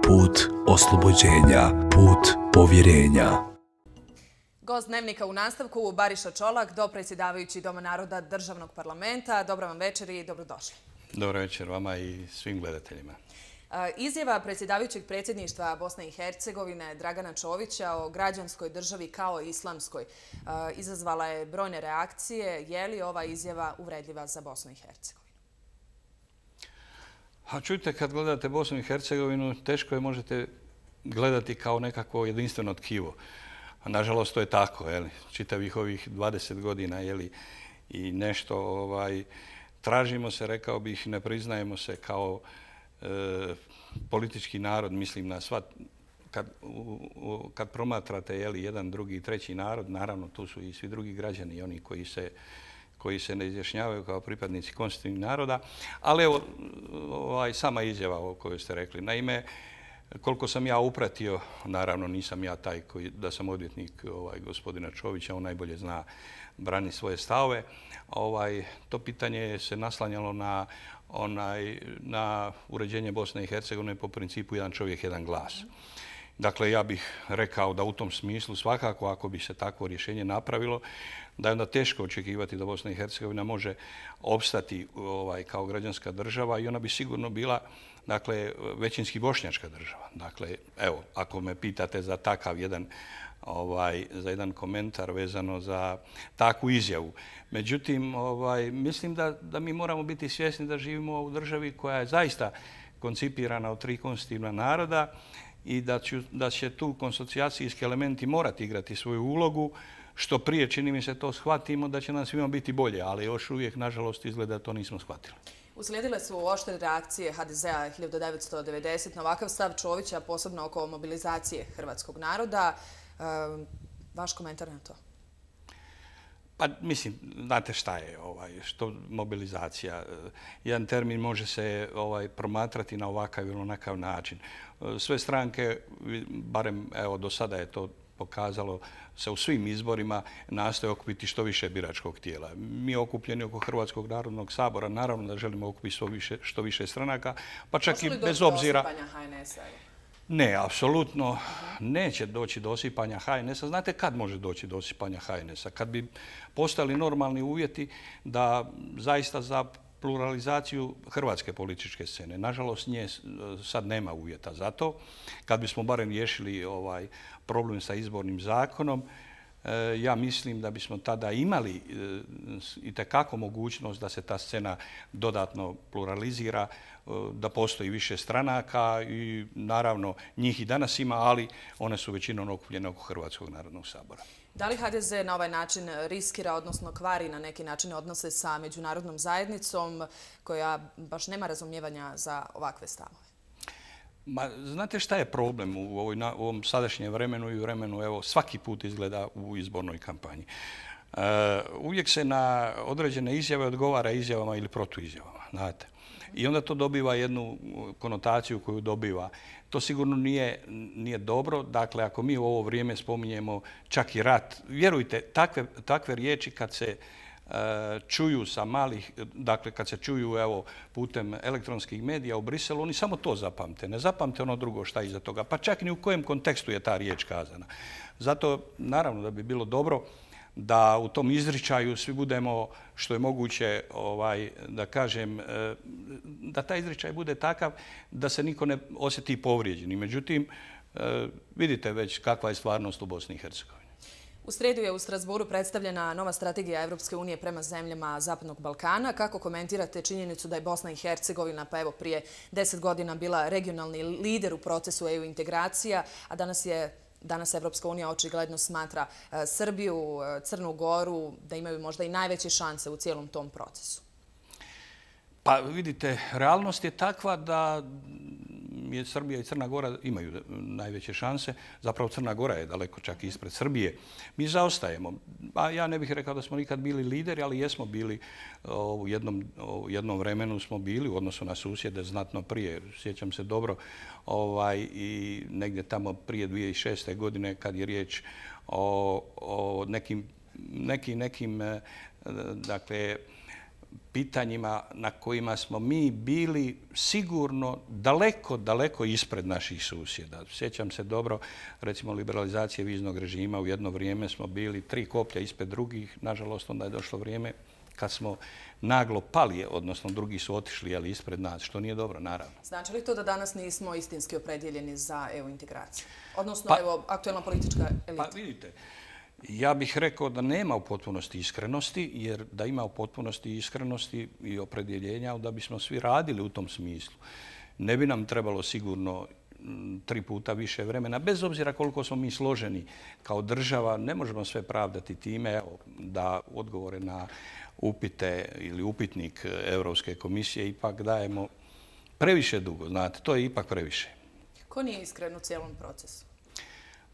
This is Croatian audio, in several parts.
put oslobođenja, put povjerenja. Gost Dnevnika u nastavku, Bariša Čolak, dopredsjedavajući Doma naroda Državnog parlamenta. Dobro vam večer i dobrodošli. Dobro večer vama i svim gledateljima. Izjava predsjedavajućeg predsjedništva Bosne i Hercegovine Dragana Čovića o građanskoj državi kao islamskoj izazvala je brojne reakcije. Je li ova izjava uvredljiva za Bosnu i Hercegovinu? A čujte, kad gledate Bosnu i Hercegovinu, teško je možete gledati kao nekakvo jedinstveno tkivo. Nažalost, to je tako, čitavih ovih 20 godina, i nešto tražimo se, rekao bih, ne priznajemo se kao politički narod, mislim na sva, kad promatrate jedan, drugi, treći narod, naravno tu su i svi drugi građani, oni koji se ne izjašnjavaju kao pripadnici konstitutivnih naroda, ali evo, sama izjava o kojoj ste rekli. Naime, koliko sam ja upratio, naravno nisam ja taj da sam odvjetnik gospodina Čovića, on najbolje zna brani svoje stavove. To pitanje se naslanjalo na uređenje Bosne i Hercegovine po principu jedan čovjek, jedan glas. Dakle, ja bih rekao da u tom smislu svakako ako bi se takvo rješenje napravilo, da je onda teško očekivati da Bosna i Hercegovina može opstati kao građanska država i ona bi sigurno bila većinski bošnjačka država. Dakle, evo, ako me pitate za takav jedan komentar vezano za takvu izjavu. Međutim, mislim da mi moramo biti svjesni da živimo u državi koja je zaista koncipirana od 3 konstitutivna naroda i da će tu konsocijacijski elementi morati igrati svoju ulogu. Što prije, čini mi se, to shvatimo, da će nam svima biti bolje, ali još uvijek, nažalost, izgleda to nismo shvatili. Uslijedile su oštre reakcije HDZ-a 1990 na ovakav stav Čovića, posebno oko mobilizacije hrvatskog naroda. Vaš komentar na to? Pa mislim, znate šta je što mobilizacija. Jedan termin može se promatrati na ovakav ili onakav način. Sve stranke, barem evo do sada je to pokazalo, se u svim izborima nastoje okupiti što više biračkog tijela. Mi okupljeni oko Hrvatskog narodnog sabora, naravno da želimo okupiti što više stranaka, pa čak i bez obzira... Ne, apsolutno neće doći do osipanja HNS-a. Znate kad može doći do osipanja HNS-a? Kad bi postali normalni uvjeti da zaista za pluralizaciju hrvatske političke scene. Nažalost, nje sad nema uvjeta za to. Kad bismo barem riješili problem sa izbornim zakonom, ja mislim da bismo tada imali itekako mogućnost da se ta scena dodatno pluralizira, da postoji više stranaka i naravno njih i danas ima, ali one su većinom okupljene oko Hrvatskog narodnog sabora. Da li HDZ na ovaj način riskira, odnosno kvari na neki način odnose sa međunarodnom zajednicom koja baš nema razumijevanja za ovakve stavove? Znate šta je problem u ovom sadašnjem vremenu i vremenu, evo, svaki put izgleda u izbornoj kampanji. Uvijek se na određene izjave odgovara izjavama ili protuizjavama, znate. I onda to dobiva jednu konotaciju koju dobiva. To sigurno nije dobro. Dakle, ako mi u ovo vrijeme spominjemo čak i rat, vjerujte, takve riječi kad se čuju sa malih, dakle kad se čuju evo putem elektronskih medija u Briselu, oni samo to zapamte. Ne zapamte ono drugo šta iza toga. Pa čak ni u kojem kontekstu je ta riječ kazana. Zato naravno da bi bilo dobro da u tom izričaju svi budemo što je moguće, da kažem, da taj izričaj bude takav da se niko ne osjeti povrijeđeni. Međutim, vidite već kakva je stvarnost u Bosni i Hercegovini. U srijedu je u Strasbourgu predstavljena nova strategija Evropske unije prema zemljama Zapadnog Balkana. Kako komentirate činjenicu da je Bosna i Hercegovina, pa evo prije 10 godina bila regionalni lider u procesu EU integracija, a danas Evropska unija očigledno smatra Srbiju, Crnu Goru da imaju možda i najveće šanse u cijelom tom procesu? Pa vidite, realnost je takva da Srbija i Crna Gora imaju najveće šanse. Zapravo Crna Gora je daleko čak ispred Srbije. Mi zaostajemo. Ja ne bih rekao da smo nikad bili lideri, ali jesmo bili u jednom vremenu smo bili u odnosu na susjede znatno prije. Sjećam se dobro i negdje tamo prije 2006. godine kad je riječ o nekim dakle, pitanjima na kojima smo mi bili sigurno daleko, daleko ispred naših susjeda. Sjećam se dobro, recimo, liberalizacije viznog režima. U jedno vrijeme smo bili 3 koplja ispred drugih. Nažalost, onda je došlo vrijeme kad smo naglo pali, odnosno drugi su otišli, ali ispred nas, što nije dobro, naravno. Znači li to da danas nismo istinski opredjeljeni za EU integraciju? Odnosno, aktuelna politička elita? Pa vidite, ja bih rekao da nema u potpunosti iskrenosti, jer da ima u potpunosti iskrenosti i opredjeljenja, da bismo svi radili u tom smislu. Ne bi nam trebalo sigurno 3 puta više vremena, bez obzira koliko smo mi složeni kao država. Ne možemo sve pravdati time da odgovore na upite ili upitnik Europske komisije ipak dajemo previše dugo. Znate, to je ipak previše. Ko nije iskren u cijelom procesu?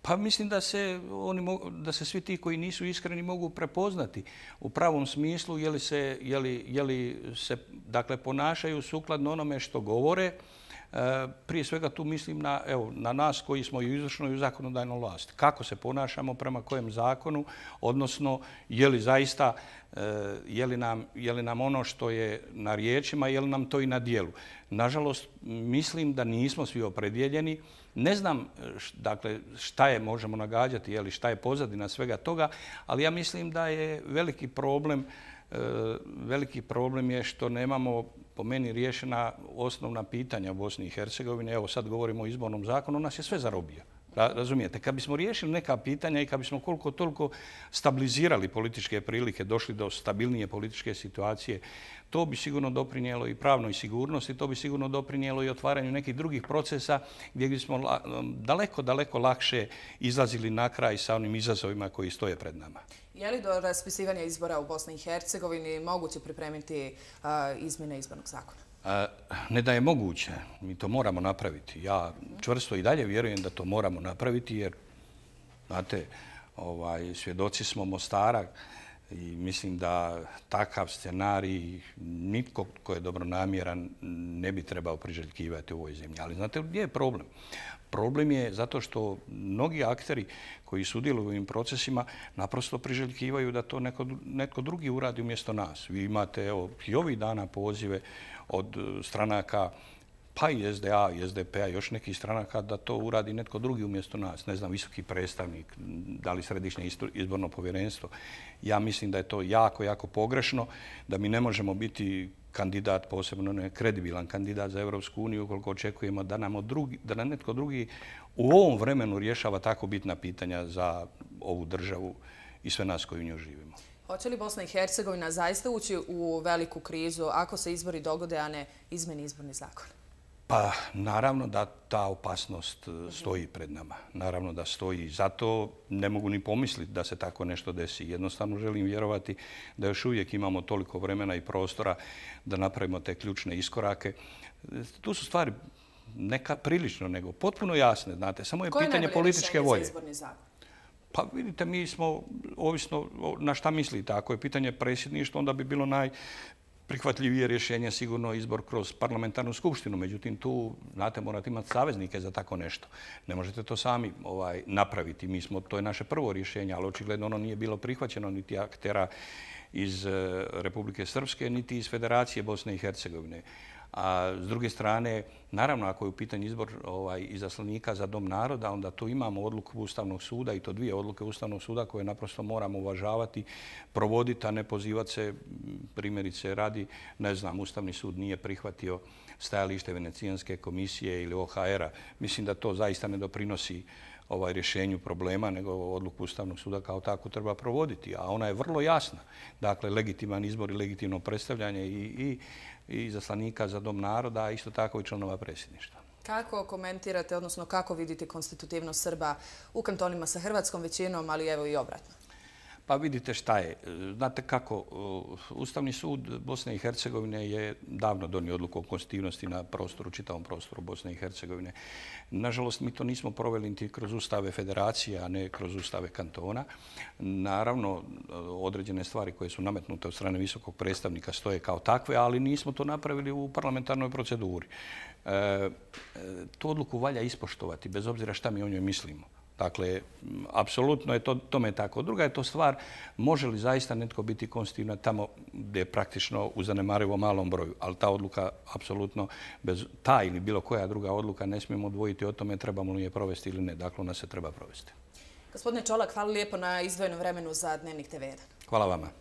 Pa mislim da se svi ti koji nisu iskreni mogu prepoznati u pravom smislu, je li se dakle, ponašaju sukladno onome što govore. Prije svega tu mislim na nas koji smo i u izvršnoj i u zakonodavnoj vlasti. Kako se ponašamo, prema kojem zakonu, odnosno je li zaista, je li nam ono što je na riječima, je li nam to i na djelu. Nažalost, mislim da nismo svi opredjeljeni. Ne znam dakle, šta je, možemo nagađati, šta je pozadina svega toga, ali ja mislim da je veliki problem je što nemamo, po meni, riješena osnovna pitanja u Bosni i Hercegovini. Evo sad govorimo o izbornom zakonu, nas je sve zarobio. Razumijete? Kad bismo riješili neka pitanja i kad bismo koliko toliko stabilizirali političke prilike, došli do stabilnije političke situacije, to bi sigurno doprinijelo i pravnoj sigurnosti, to bi sigurno doprinijelo i otvaranju nekih drugih procesa gdje bismo daleko, daleko lakše izlazili na kraj sa onim izazovima koji stoje pred nama. Je li do raspisivanja izbora u Bosni i Hercegovini moguće pripremiti izmjene izbornog zakona? Ne da je moguće, mi to moramo napraviti. Ja čvrsto i dalje vjerujem da to moramo napraviti jer, znate, svjedoci smo Mostara i mislim da takav scenarij nitko tko je dobronamjeran ne bi trebao priželjkivati u ovoj zemlji. Ali znate gdje je problem? Problem je zato što mnogi akteri koji sudjeluju u ovim procesima naprosto priželjkivaju da to netko drugi uradi umjesto nas. Vi imate i ovih dana pozive od stranaka, pa i SDA i SDP-a, još nekih stranaka, da to uradi netko drugi umjesto nas. Ne znam, visoki predstavnik, da li središnje izborno povjerenstvo. Ja mislim da je to jako, jako pogrešno, da mi ne možemo biti kandidat, posebno ne kredibilan kandidat za Europsku uniju, ukoliko očekujemo da nam netko drugi u ovom vremenu rješava tako bitna pitanja za ovu državu i sve nas koji u njoj živimo. Hoće li Bosna i Hercegovina zaista ući u veliku krizu ako se izbori dogode, a ne izmeni izborni zakon? Pa naravno da ta opasnost stoji pred nama. Naravno da stoji. Zato ne mogu ni pomisliti da se tako nešto desi. Jednostavno želim vjerovati da još uvijek imamo toliko vremena i prostora da napravimo te ključne iskorake. Tu su stvari neka prilično nego potpuno jasne. Znate, samo je pitanje političke volje. Koje je najbolje rješenje za izborni zakon? Pa vidite, mi smo, ovisno na šta mislite, ako je pitanje predsjedništva, onda bi bilo najprihvatljivije rješenje sigurno izbor kroz parlamentarnu skupštinu. Međutim, tu, znate, morate imati saveznike za tako nešto. Ne možete to sami napraviti. To je naše prvo rješenje, ali očigledno ono nije bilo prihvaćeno niti aktera iz Republike Srpske, niti iz Federacije Bosne i Hercegovine. A s druge strane, naravno, ako je u pitanju izbor izaslanika za Dom naroda, onda tu imamo odluku Ustavnog suda i to 2 odluke Ustavnog suda koje naprosto moramo uvažavati, provoditi, a ne pozivati se, primjerice radi, ne znam, Ustavni sud nije prihvatio stajalište Venecijanske komisije ili OHR-a. Mislim da to zaista ne doprinosi rješenju problema, nego odluku Ustavnog suda kao tako treba provoditi. A ona je vrlo jasna. Dakle, legitiman izbor i legitimno predstavljanje i izaslanika za Dom naroda, a isto tako i članova predsjedništva. Kako komentirate, odnosno kako vidite konstitutivnost Srba u kantonima sa hrvatskom većinom, ali evo i obratno? Pa vidite šta je. Znate kako, Ustavni sud Bosne i Hercegovine je davno donio odluku o konstitutivnosti na čitavom prostoru Bosne i Hercegovine. Nažalost, mi to nismo proveli niti kroz ustave federacije, a ne kroz ustave kantona. Naravno, određene stvari koje su nametnute od strane visokog predstavnika stoje kao takve, ali nismo to napravili u parlamentarnoj proceduri. Tu odluku valja ispoštovati, bez obzira šta mi o njoj mislimo. Dakle, apsolutno je tome tako. Druga je to stvar, može li zaista netko biti konstitutivan tamo gdje je praktično u zanemarivo malom broju. Ali ta odluka, apsolutno, bez ta ili bilo koja druga odluka ne smijemo odvojiti o tome trebamo li je provesti ili ne. Dakle, ona se treba provesti. Gospodine Čolak, hvala lijepo na izdvojenom vremenu za Dnevnik TV1. Hvala vama.